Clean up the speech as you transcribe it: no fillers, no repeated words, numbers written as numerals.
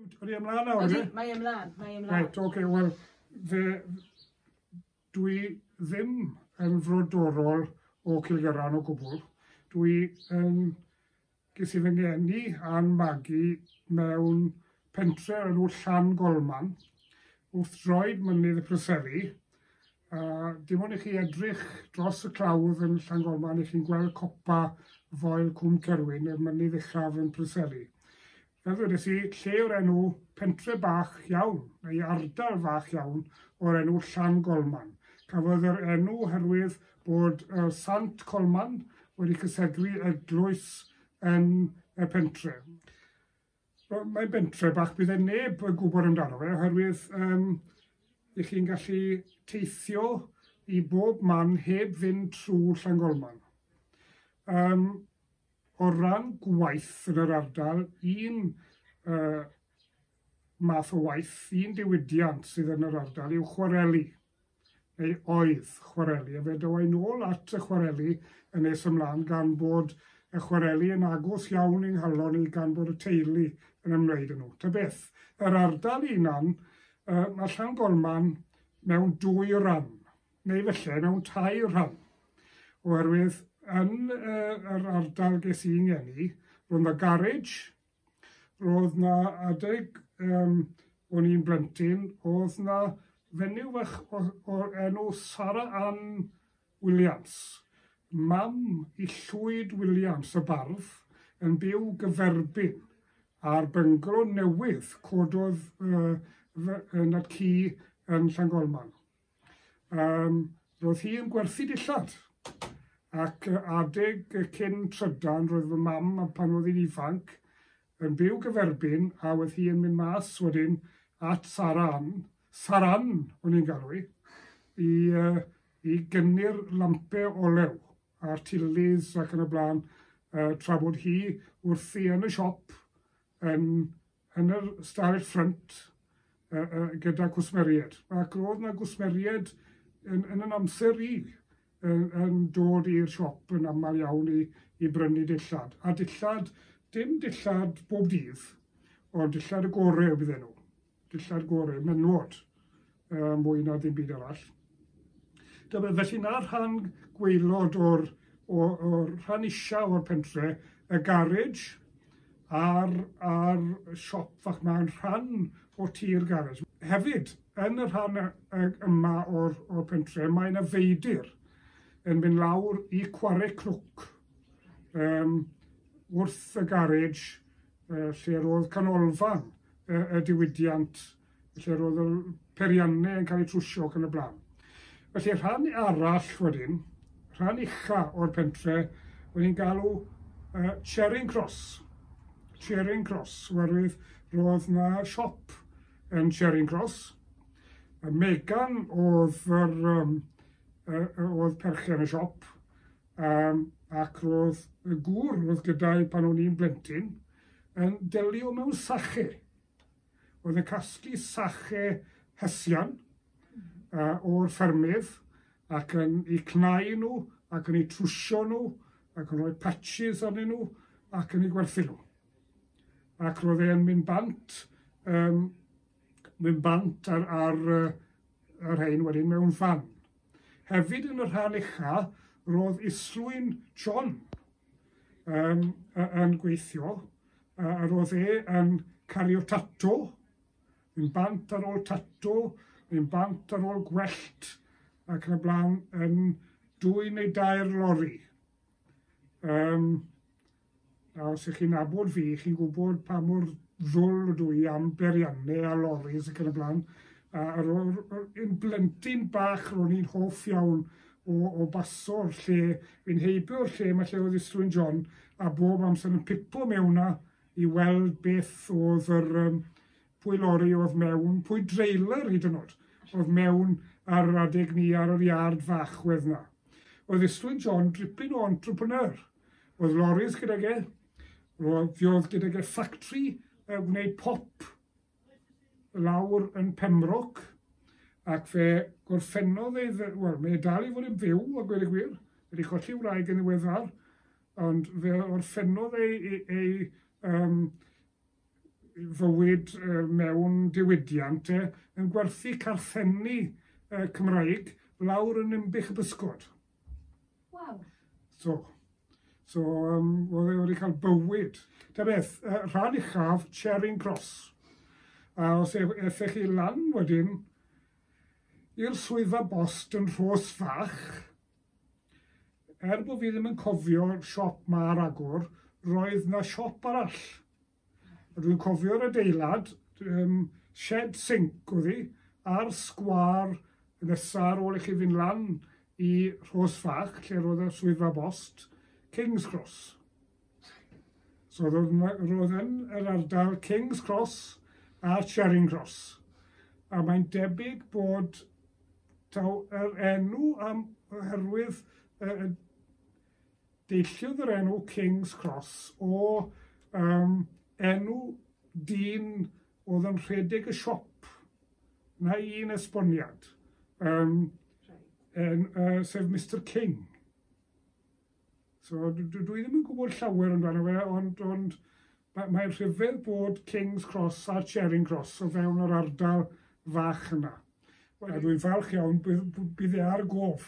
Ydy ymlaen nawr, Ydy, mae ymlaen, mae ymlaen. Right, oce, okay, wel, fe, dwi ddim yn frodorol o Cilgerran o gwbl. Dwi yn, ges i fy ngeni a'n magu mewn pentre o'r enw Llangolman, wrth droed mynydd y Preseli, a dim ond i chi edrych dros y clawdd yn Llangolman, i chi'n gweld copa Foel Cwm Cerwyn, y mynydd uchaf yn Preseli. Fel ddwedes i, lle o'r enw pentre bach iawn, neu ardal fach iawn, o'r enw Llangolman. Cafodd yr enw oherwydd bod y Sant Colman wedi cysegru eglwys yn y pentre. Mae'n bentre bach bydd e neb yn gwybod amdano fe, oherwydd i chi'n gallu teithio i bob man heb fynd trwy Llangolman. O ran gwaith yn yr ardal, un math o waith, un diwydiant sydd yn yr ardal yw chwareli, neu oedd chwareli, a fe ddaw i nôl at y chwareli yn nes ymlaen gan bod y chwareli yn agos iawn i'n nghalon i gan bod y teulu yn ymwneud â nhw. Ta beth, yr ardal hunan, mae Llangolman mewn dwy ran, neu felly mewn tair rhan, oherwydd yn yr ardal ges i'n ngeni, roedd 'na garej, roedd 'na adeg o'n i'n blentyn, oedd 'na fenyw fach o'r enw Sarah Ann Williams, mam i Llwyd Williams y bardd, yn byw gyferbyn a'r byngalo newydd cododd Nad-cu yn Llangolman. Roedd hi yn gwerthu dillad, ac adeg cyn trydan roedd fy mam, pan oedd hi'n ifanc, yn byw gyferbyn, a oedd hi yn mynd mas wedyn at Sarah Ann, Saran o'n i'n galw hi, i gynnu'r lampau olew a'r tilis ac yn y blaen, tra bod hi wrthi yn y siop yn yr stafell ffrynt gyda cwsmeriaid. Ac roedd 'na gwsmeriaid yn yn amser i yn dod i'r siop yn aml iawn i brynu dillad. A dillad, dim dillad bob dydd, ond dillad y gorau bydden nhw. Dillad gorau, menywod, mwy na ddim byd arall. Dyma, felly na'r rhan gwaelod o'r rhan isa o'r pentre, y garej a'r siop fach ma'n rhan o tŷ'r garej. Hefyd, yn y rhan yma o'r pentre, mae yna feidir yn mynd lawr i Cware Cnwc wrth y garej, lle roedd canolfan y diwydiant, lle roedd y peiriannau yn cael eu trwsio ac yn y blaen. Felly rhan arall wedyn, rhan ucha o'r pentre, wedi'n galw Charing Cross. Charing Cross, oherwydd roedd na siop yn Charing Cross. Megan oedd oedd perchen y siop, ac roedd y gŵr oedd gyda'i pan o'n i'n blentyn yn delio mewn sache. Oedd yn casglu sache hesian o'r ffermydd ac yn eu cnau nhw ac yn eu trwsio nhw ac yn rhoi patches arnyn nhw ac yn eu gwerthu nhw. Ac roedd e'n mynd bant ar yr rhain wedyn mewn fan. Hefyd yn y rhan ucha roedd Islwyn John yn gweithio, a roedd e yn cario tato, yn bant ar ôl tato, yn bant ar ôl gwellt, ac yn y blaen yn 2 neu 3 lori. A os ych chi'n nabod fi, chi'n gwybod pa mor ddwl ydw i am beiriannau a loris ac yn y blaen. A un blentyn bach ro'n i'n hoff iawn o baso'r lle, fi'n heibio'r lle mae lle oedd Islwyn John, a bob amser yn pipo mewn na i weld beth oedd yr pwy lori oedd mewn, pwy dreiler hyd yn oed oedd mewn ar yr adeg ni ar yr iard fach wedd na. Oedd Islwyn John dripyn o entrepreneur. Oedd loris gydag e, oedd gydag e factory gwneud pop lawr yn Pembroke, ac fe gorffennodd ei, wel, mae e dal i fod yn fyw, a gweud y gwir, wedi colli wraig yn ddiweddar, ond fe orffennodd ei fywyd mewn diwydiant e, yn gwerthu carthenni Cymraeg lawr yn Ninbych y Bysgod. Waw. So, oedd e wedi cael bywyd. Ta beth, rhan uchaf, Charing Cross. A os aethech chi lan wedyn i'r swyddfa bost yn Rhos Fach, er bod fi ddim yn cofio'r siop ma ar agor, roedd na siop arall. A dwi'n cofio'r adeilad, shed sinc oedd hi, ar sgwâr nesa ar ôl i chi fynd lan i Rhos Fach, lle roedd y swyddfa bost, King's Cross. So roedd yn yr ardal King's Cross a Charing Cross. A mae'n debyg bod taw yr enw am oherwydd deilliodd yr enw King's Cross o enw dyn oedd yn rhedeg y siop. Na un esboniad. Sef Mr King. So dwi ddim yn gwybod llawer amdano fe, ond mae'n rhyfedd bod King's Cross a Charing Cross o fewn yr ardal fach yna. A dwi'n falch iawn bydd e ar gof.